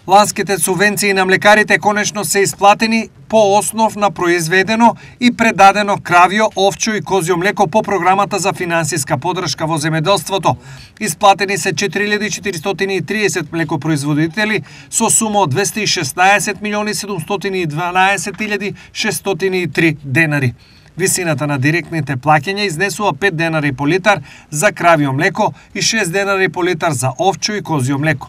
Ланските субвенции на млекарите конечно се исплатени по основ на произведено и предадено кравјо, овчо и козјо млеко по програмата за финансиска подршка во земјоделството. Исплатени се 4430 млекопроизводители со сума од 216.712.603 денари. Висината на директните плаќања изнесува 5 денари по литар за кравјо млеко и 6 денари по литар за овчо и козјо млеко.